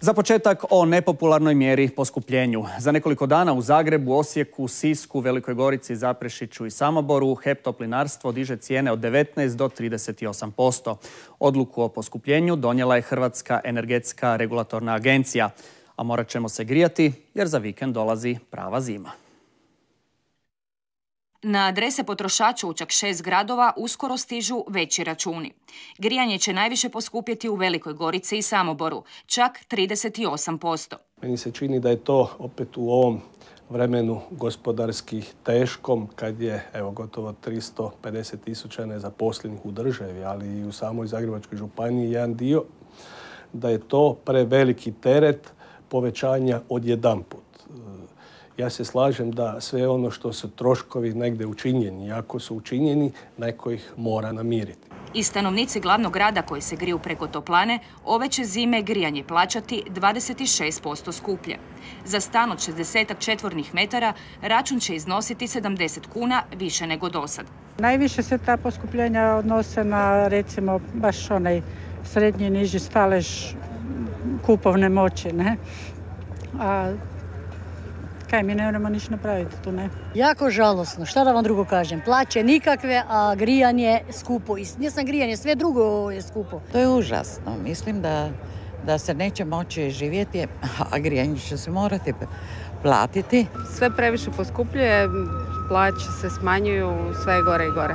Za početak o nepopularnoj mjeri poskupljenju. Za nekoliko dana u Zagrebu, Osijeku, Sisku, Velikoj Gorici, Zaprešiću i Samoboru HEP Toplinarstvo diže cijene od 19 do 38%. Odluku o poskupljenju donijela je Hrvatska energetska regulatorna agencija. A morat ćemo se grijati jer za vikend dolazi prava zima. Na adrese potrošača u čak 6 gradova uskoro stižu veći računi. Grijanje će najviše poskupjeti u Velikoj Gorici i Samoboru, čak 38%. Meni se čini da je to opet u ovom vremenu gospodarski teškom, kad je gotovo 350.000 nezaposlenih u državi, ali i u samoj Zagrebačkoj županiji jedan dio, da je to preveliki teret povećanja odjedanput. Ja se slažem da sve ono što su troškovi negdje učinjeni, ako su učinjeni, neko ih mora namiriti. I stanovnici glavnog grada koji se griju preko toplane, ove će zime grijanje plaćati 26% skuplje. Za stan od 60 četvornih metara račun će iznositi 70 kuna više nego dosad. Najviše se ta poskupljenja odnose na, recimo, baš onaj srednji i niži stalež kupovne moći, ne? A kaj, mi ne moramo ništa napraviti tu, ne? Jako žalosno, šta da vam drugo kažem. Plaće nikakve, a grijanje skupo. Ne sam grijanje, sve drugo je skupo. To je užasno. Mislim da se neće moći živjeti, a grijanje će se morati platiti. Sve previše poskupljuje, plaće se smanjuju, sve je gore i gore.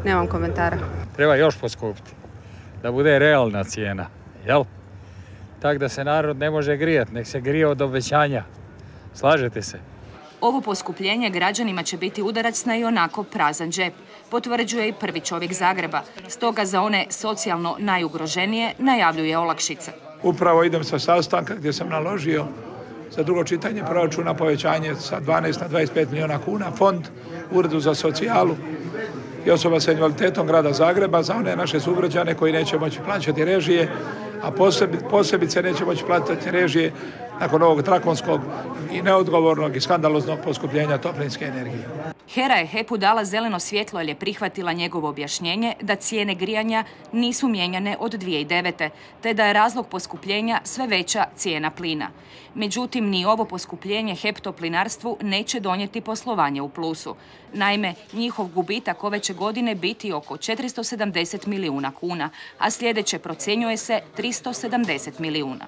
Nemam komentara. Treba još poskupiti, da bude realna cijena, jel? Tako da se narod ne može grijati, nek se grije od obećanja. Slažete se? Ovo poskupljenje građanima će biti udarac na ionako prazan džep, potvrđuje i prvi čovjek Zagreba. Stoga za one socijalno najugroženije najavljuje olakšice. Upravo idem sa sastanka gdje sam naložio za drugo čitanje proračuna povećanje sa 12 na 25 milijuna kuna, fond Uredu za socijalu i osoba sa invaliditetom grada Zagreba za one naše sugrađane koji neće moći plaćati režije, a posebice neće moći platiti režije nakon ovog drakonskog i neodgovornog i skandaloznog poskupljenja toplinske energije. HERA je HEP-u dala zeleno svjetlo jer je prihvatila njegovo objašnjenje da cijene grijanja nisu mijenjane od 2009. te da je razlog poskupljenja sve veća cijena plina. Međutim, ni ovo poskupljenje HEP Toplinarstvu neće donijeti poslovanje u plusu. Naime, njihov gubitak ove će godine biti oko 470 milijuna kuna, a sljedeće procjenjuje se 370 milijuna.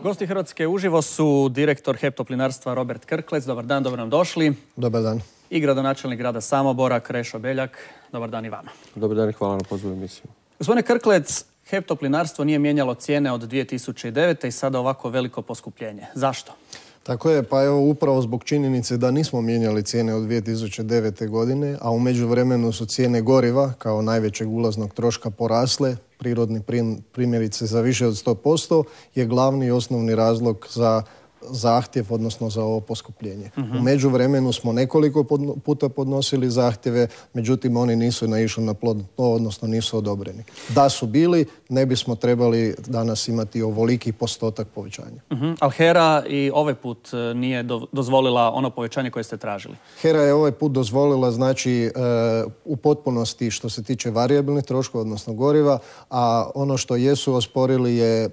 Gosti Hrvatske uživo su direktor HEP Toplinarstva Robert Krklec. Dobar dan, dobro nam došli. Dobar dan. I gradonačelnik grada Samobora Krešo Beljak. Dobar dan i vama. Dobar dan i hvala na pozivu emisiju. Gospodine Krklec, HEP Toplinarstvo nije mijenjalo cijene od 2009. i sada ovako veliko poskupljenje. Zašto? Tako je, pa evo upravo zbog činjenice da nismo mijenjali cijene od 2009. godine, a u međuvremenu su cijene goriva kao najvećeg ulaznog troška porasle, prirodni primjerice za više od 100%, je glavni i osnovni razlog za zahtjev, odnosno za ovo poskupljenje. U međuvremenu smo nekoliko puta podnosili zahtjeve, međutim oni nisu naišli na plodno tlo, odnosno nisu odobreni. Da su bili, ne bismo trebali danas imati ovoliki postotak povećanja. Ali HERA i ovaj put nije dozvolila ono povećanje koje ste tražili? HERA je ovaj put dozvolila, znači, u potpunosti što se tiče varijabilnih troškova, odnosno goriva, a ono što jesu osporili je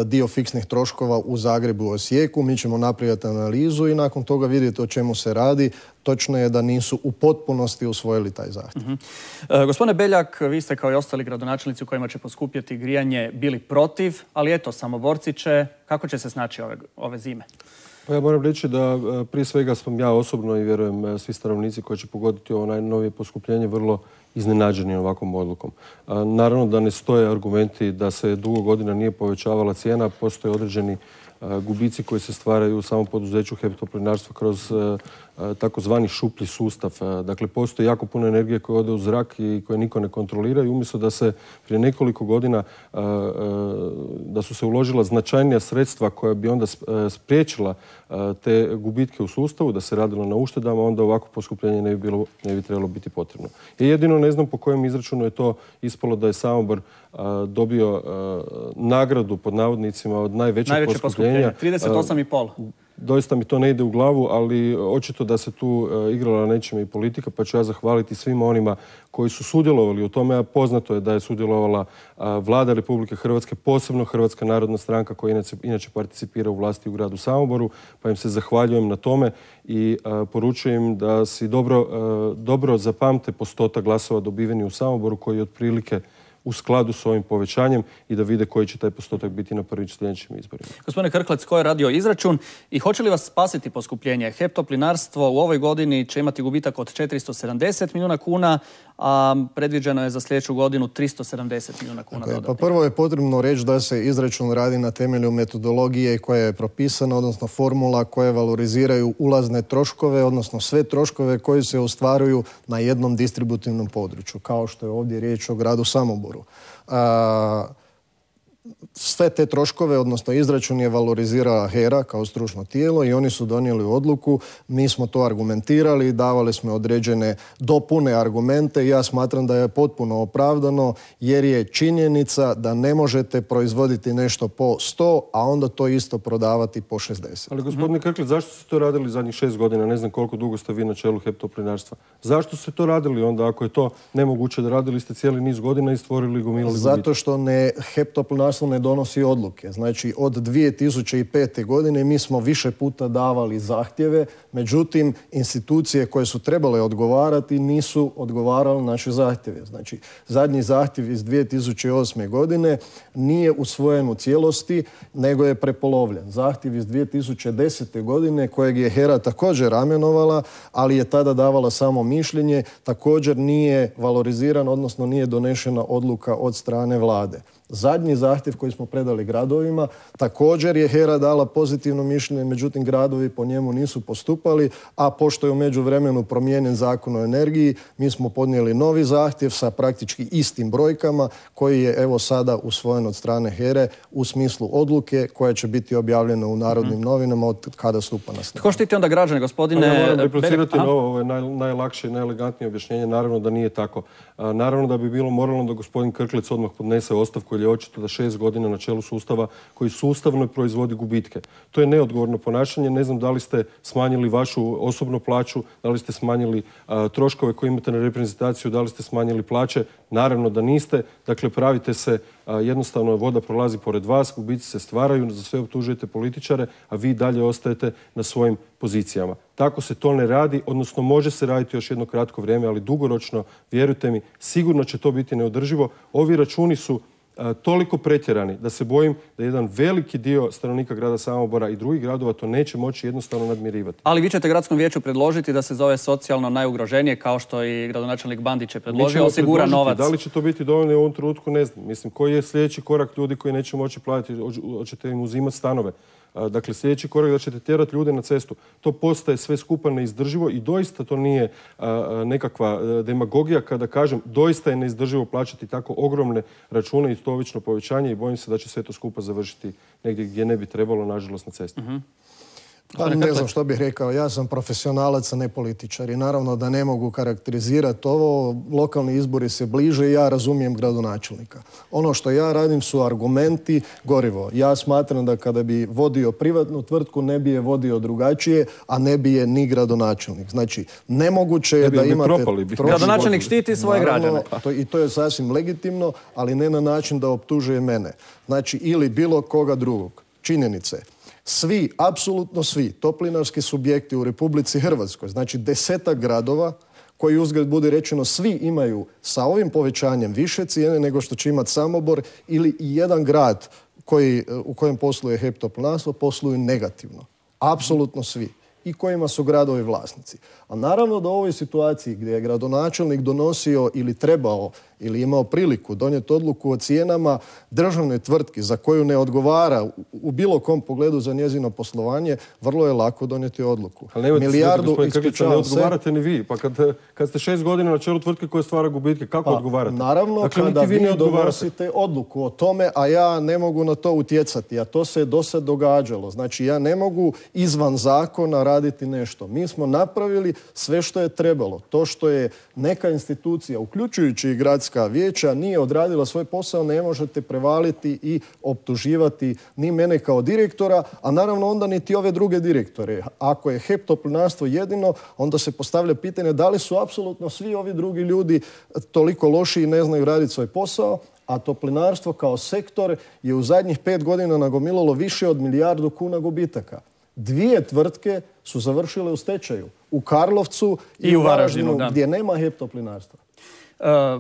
dio fiksnih troškova u Zagrebu i Osijeku. Mi ćemo napraviti analizu i nakon toga vidjeti o čemu se radi. Točno je da nisu u potpunosti usvojili taj zahtjev. Gospodine Beljak, vi ste kao i ostali gradonačelnici u kojima će poskupjeti grijanje bili protiv, ali eto, Samoborci kako će se snaći ove zime? Pa ja moram reći da prije svega sam ja osobno i vjerujem svi stanovnici koji će pogoditi ovo najnovije poskupljenje vrlo iznenađeni ovakvom odlukom. Naravno da ne stoje argumenti da se dugo godina nije povećavala cijena, postoje određeni gubici koji se stvaraju u samom poduzeću HEP Toplinarstva kroz takozvani šuplji sustav. Dakle, postoji jako puno energije koja ode u zrak i koje niko ne kontrolira i umjesto da se prije nekoliko godina da su se uložila značajnija sredstva koja bi onda spriječila te gubitke u sustavu, da se radilo na uštedama, onda ovako poskupljenje ne bi trebalo biti potrebno. I jedino ne znam po kojem izračunu je to ispalo da je Samobor dobio nagradu pod navodnicima od najvećeg poskupljenja. 38,5. doista mi to ne ide u glavu, ali očito da se tu igrala nečime i politika, pa ću ja zahvaliti svima onima koji su sudjelovali u tome, a poznato je da je sudjelovala Vlada Republike Hrvatske, posebno Hrvatska narodna stranka koja inače participira u vlasti u gradu Samoboru, pa im se zahvaljujem na tome i poručujem da si dobro zapamte postotak glasova dobiveni u Samoboru koji je otprilike u skladu s ovim povećanjem i da vide koji će taj postotak biti na prvim sljedećim izborima. Gospodine Krklec, ko je radio izračun i hoće li vas spasiti poskupljenje? HEP Toplinarstvo u ovoj godini će imati gubitak od 470 milijuna kuna, a predviđeno je za sljedeću godinu 370 milijuna kuna dodatnih. Pa prvo je potrebno reći da se izračun radi na temelju metodologije koja je propisana, odnosno formula koje valoriziraju ulazne troškove, odnosno sve troškove koji se ostvaruju na jednom distributivnom području, kao što je ovdje riječ o gradu Samoboru. Sve te troškove, odnosno izračun je valorizirala HERA kao stručno tijelo i oni su donijeli odluku. Mi smo to argumentirali, davali smo određene dopune argumente i ja smatram da je potpuno opravdano jer je činjenica da ne možete proizvoditi nešto po 100, a onda to isto prodavati po 60. Ali gospodine Krklec, zašto ste to radili zadnjih 6 godina? Ne znam koliko dugo ste vi na čelu HEP Toplinarstva. Zašto ste to radili onda ako je to nemoguće da radili ste cijeli niz godina i stvorili gomilali gubitak? Zato što HEP Toplinarstvo ne donosi odluke. Znači, od 2005. godine mi smo više puta davali zahtjeve, međutim, institucije koje su trebale odgovarati nisu odgovarale naše zahtjeve. Znači, zadnji zahtjev iz 2008. godine nije usvojen u cijelosti, nego je prepolovljen. Zahtjev iz 2010. godine, kojeg je HERA također amenovala, ali je tada davala samo mišljenje, također nije valoriziran, odnosno nije donešena odluka od strane vlade. Zadnji zahtjev koji smo predali gradovima, također je HERA dala pozitivno mišljenje, međutim gradovi po njemu nisu postupali, a pošto je u međuvremenu promijenjen Zakon o energiji, mi smo podnijeli novi zahtjev sa praktički istim brojkama koji je evo sada usvojen od strane HERE u smislu odluke koja će biti objavljena u Narodnim novinama od kada stupa na snagu. Tko štiti onda građane, gospodine? Ja moram replicirati na ovo najlakše i najelegantnije objašnjenje. Naravno da nije tako. Naravno da bi bilo moralno da gospodin Krklec odmah podnese ostavku, jer je očito da 6 godina na čelu sustava koji sustavno proizvodi gubitke. To je neodgovorno ponašanje. Ne znam da li ste smanjili vašu osobnu plaću, da li ste smanjili troškove koje imate na reprezentaciju, da li ste smanjili plaće. Naravno da niste. Dakle, pravite se, jednostavno voda prolazi pored vas, gubici se stvaraju, za sve optužujete političare, a vi dalje ostajete na svojim pozicijama. Tako se to ne radi, odnosno može se raditi još jedno kratko vrijeme, ali dugoročno, vjerujte mi, sigurno će to biti neodrživo. Ovi računi su toliko pretjerani da se bojim da jedan veliki dio stanovnika grada Samobora i drugih gradova to neće moći jednostavno nadmirivati. Ali vi ćete gradskom vijeću predložiti da se zove socijalno najugroženije, kao što i gradonačelnik Bandić je predložio, osigura novac. Da li će to biti dovoljno u ovom trenutku, ne znam. Mislim, koji je sljedeći korak ljudi koji neće moći platiti, hoćete im uzimati stanove. Dakle, sljedeći korak da ćete tjerati ljude na cestu. To postaje sve skupa neizdrživo i doista to nije nekakva demagogija kada kažem doista je neizdrživo plaćati tako ogromne račune i stovično povećanje i bojim se da će sve to skupa završiti negdje gdje ne bi trebalo, nažalost, na cesti. Pa ne znam što bih rekao, ja sam profesionalac, a ne političar i naravno da ne mogu karakterizirati ovo, lokalni izbori se bliže i ja razumijem gradonačelnika. Ono što ja radim su argumenti, gorivo. Ja smatram da kada bi vodio privatnu tvrtku ne bi je vodio drugačije, a ne bi je ni gradonačelnik. Znači, nemoguće je da imate... Gradonačelnik štiti svoje građane. I to je sasvim legitimno, ali ne na način da optužuje mene. Znači, ili bilo koga drugog. Činjenice. Svi, apsolutno svi toplinarski subjekti u Republici Hrvatskoj, znači 10 gradova koji uzgled bude rečeno svi imaju sa ovim povećanjem više cijene nego što će imati Samobor ili jedan grad u kojem posluje HEP Toplinarstvo posluju negativno. Apsolutno svi. I kojima su gradovi vlasnici. A naravno da u ovoj situaciji gdje je gradonačelnik donosio ili trebao ili imao priliku donijeti odluku o cijenama državne tvrtki za koju ne odgovara u bilo kom pogledu za njezino poslovanje, vrlo je lako donijeti odluku. Ali ne odgovarate ni vi. Pa kad ste 6 godina na čelu tvrtke koja stvara gubitke, kako odgovarate? Naravno, dakle, kada vi donosite odluku o tome, a ja ne mogu na to utjecati, a to se do sad događalo. Znači, ja ne mogu izvan zakona odraditi nešto. Mi smo napravili sve što je trebalo. To što je neka institucija, uključujući i gradska vijeća, nije odradila svoj posao, ne možete prevaliti i optuživati ni mene kao direktora, a naravno onda niti ove druge direktore. Ako je HEP Toplinarstvo jedino, onda se postavlja pitanje da li su apsolutno svi ovi drugi ljudi toliko loši i ne znaju raditi svoj posao, a toplinarstvo kao sektor je u zadnjih 5 godina nagomilalo više od 1 milijardu kuna gubitaka. 2 tvrtke su završile u stečaju. U Karlovcu i u Varaždinu, gdje nema HEP Toplinarstva.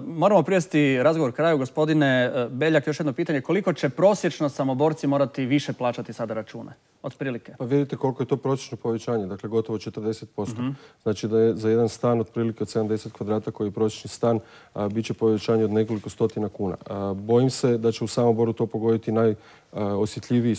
Moramo privesti razgovor kraju. Gospodine Beljak, još jedno pitanje. Koliko će prosječno Samoborci morati više plaćati sada račune? Otprilike. Pa vidite koliko je to prosječno povećanje, dakle gotovo 40%. Znači da je za jedan stan otprilike od 70 kvadrata koji je prosječni stan, bit će povećanje od nekoliko stotina kuna. Bojim se da će u Samoboru to pogoditi najosjetljiviji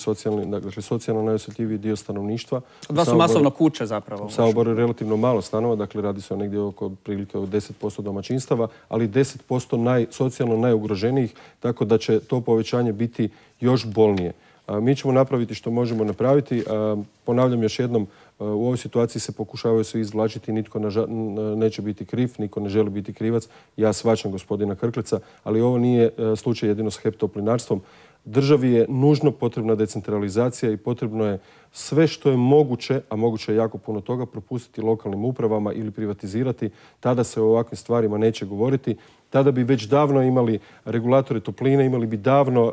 socijalno najosjetljiviji dio stanovništva. Da su masovno kuće zapravo. U Samoboru je relativno malo stanova, dakle radi se o negdje oko prilike od 10% domaćinstava, ali 10% socijalno najugroženijih, tako da će to povećanje biti još bolnije. Mi ćemo napraviti što možemo napraviti. Ponavljam još jednom, u ovoj situaciji se pokušavaju svi izvlačiti, nitko neće biti kriv, niko ne želi biti krivac. Ja shvaćam gospodina Krkleca, ali ovo nije slučaj jedino s HEP Toplinarstvom. Državi je nužno potrebna decentralizacija i potrebno je sve što je moguće, a moguće je jako puno toga, propustiti lokalnim upravama ili privatizirati. Tada se o ovakvim stvarima neće govoriti. Tada bi već davno imali regulatore topline, imali bi davno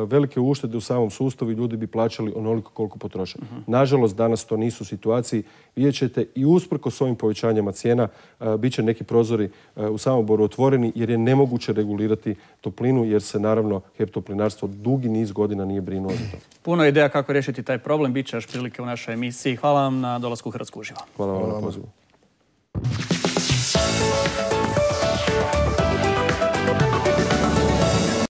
velike uštede u samom sustavu i ljudi bi plaćali onoliko koliko potroše. Nažalost, danas to nisu situaciji. Vidjet ćete i usprkos ovim povećanjima cijena bit će neki prozori u Samoboru otvoreni jer je nemoguće regulirati toplinu jer se naravno HEP Toplinarstvo dugi niz godina nije brinuo za to. Puno ideja kako riješiti taj problem. Biće još prilike u našoj emisiji. Hvala vam na dolasku u Hrvatsku uživo. Hvala vam na pozivu.